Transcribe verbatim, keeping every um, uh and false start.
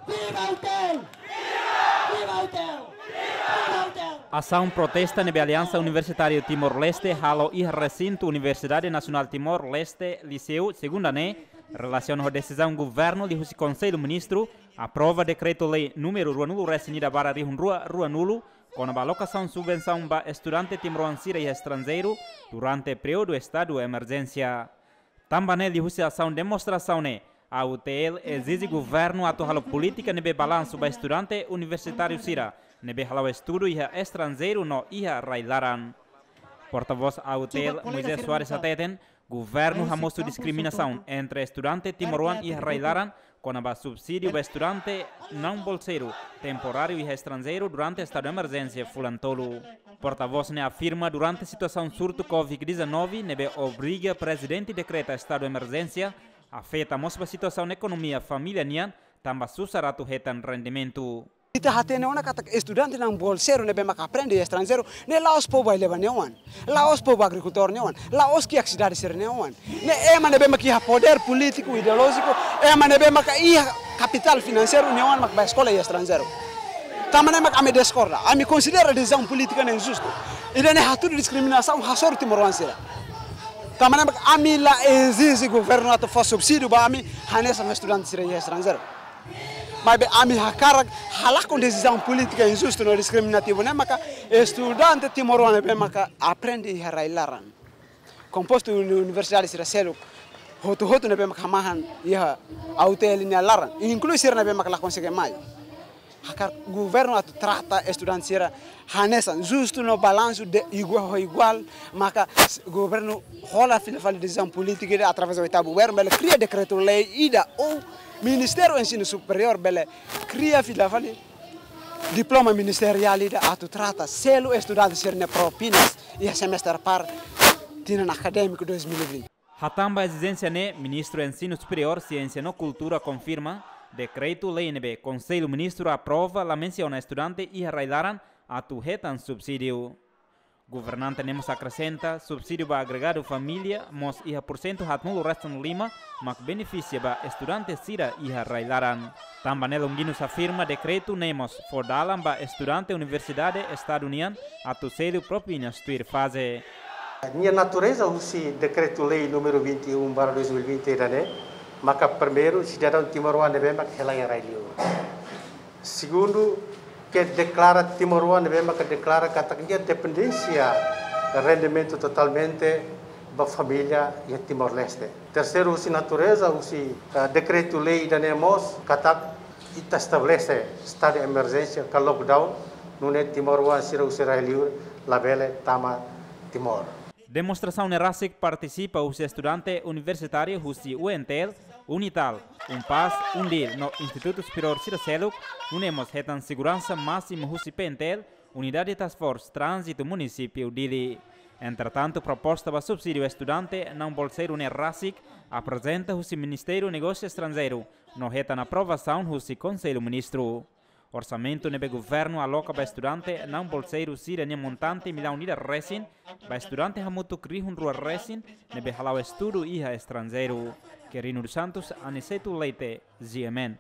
Viva UTEL! Viva UTEL! Viva UTEL! Asaun protesta ne'ebé Aliansa Universitáriu Timor-Leste halo iha resintu Universidade Nasionál Timor-Leste, Liceu, segunda ne'e, relasiona ho desizaun governu liuhusi Konsellu Ministru aprova dekretu-lei númeru ruanulu-resin-ida barra rihun rua ruanulu, kona-ba alokasaun subvensaun ba estudante timoroan sira iha estranjeiru durante períodu estadu emerjénsia. Tanba ne'e liuhusi asaun demonstrasaun ne'e, A U T L ezije governu atu halo polítika ne'ebé balansu ba estudante universitáriu sira ne'ebé hala'o estudu iha estranjeiru no iha rai-laran. Portavós A U T L, Moisés Soares, hateten, governu hamosu diskriminasaun entre estudante timoroan iha rai-laran kona-ba subsídiu ba estudante naun bolseiru temporáriu iha estranjeiru durante estadu emerjénsia fulan tolu. Portavós ne'e afirma durante situasaun surtu covid dezanove ne'ebé obriga prezidente dekreta estadu emerjénsia, afeta mós ba situasaun ekonomia família nian, tanba susar atu hetan rendimentu. Ita hatene ona katak estudante naun bolseiru ne'ebé maka aprende iha estranjeiru, ne'e la'ós povu ai-leba nia oan, la'ós povu agrikultór nia oan, la'ós kiak sidade sira nia oan. Ne'e ema ne'ebé maka iha podér polítiku, ideolójiku, ema ne'ebé maka iha kapitál finanseiru nia oan maka bá eskola iha estranjeiru. Tanba ne'e maka ami diskorda, ami konsidera desizaun polítika ne'e injustu. Ida-ne'e hatudu diskriminasaun hasoru timoroan sira. Tanba ne'e maka ami la ezije governu atu fó subsídiu ba ami hanesan ho estudante sira iha estranjeiru. Maibé ami hakarak halakon desizaun polítika injustu no diskriminativu ne'e maka estudante timoroan ne'ebé maka aprende iha rai-laran, kompostu uni-, universidade sira seluk hotu-hotu ne'ebé maka hamahan iha A U T L nia laran, inklui sira ne'ebé maka la konsege mai. Hakarak governu atu trata estudante sira hanesan, justu no balansu, de igual ho igual, maka s-, governu hola fila fali desizaun polítika ida através oitavu governu bele kria dekretu-lei ida ou Ministériu Ensinu Superiór bele kria fila fali diploma ministeriál ida atu trata selu estudante sira-nia propinas iha semestre par tinan akadémiku dois mil e vinte. Hatán ba ezijénsia ne'e, Ministru Ensinu Superiór, Siénsia no Kultura konfirma, dekretu-lei ne'ebé Konsellu Ministru aprova la mensiona estudante iha rai-laran atu hetan subsídiu. Governante ne'e mós akresenta, subsídiu ba agregadu família mós iha pursentu haatnulu-resin-lima mak benefisia ba estudante sira iha rai-laran. Tanba ne'e Longuinhos afirma dekretu ne'e mós fó dalan ba estudante universidade estadu nian atu selu propinas tuir faze. Nia natureza husi dekretu-lei númeru vinte e um barra dois mil e vinte ida-ne'e, maka primeiru, sidadaun timoroan ne'ebé maka hela iha rai-liur. Segundu, ke deklara timoroan ne'ebé maka deklara katak nia dependénsia rendimentu totalmente ba família iha Timor-Leste. Terseiru, husi natureza husi, eh, dekretu-lei ida-ne'e mós katak ita estabelese estadu de emerjénsia ka lockdown, nune'e timoroan sira husi rai-liur labele tama Timor. Demonstrasaun ne'e rasik partisipa husi estudante universitáriu husi U N T L, UNITAL, UNPAZ, UNDIL no institutu superiór sira seluk, nune'e mós hetan seguransa másimu husi P N T L, Unidade Task Force Tránzitu Munisípiu Dili. Entretantu, proposta ba subsídiu estudante naun bolseiru ne'e rasik aprezenta husi Ministériu Negósiu Estranjeiru no hetan aprovasaun husi Konsellu Ministru. Orsamentu ne'ebé governu aloka ba estudante naun bolseiru sira-nia montante millaun ida resin, ba estudante hamutuk rihun rua resin ne'ebé hala'o estudu iha estranjeiru. Quirino dos Santos, Aniceto Leite, G M N.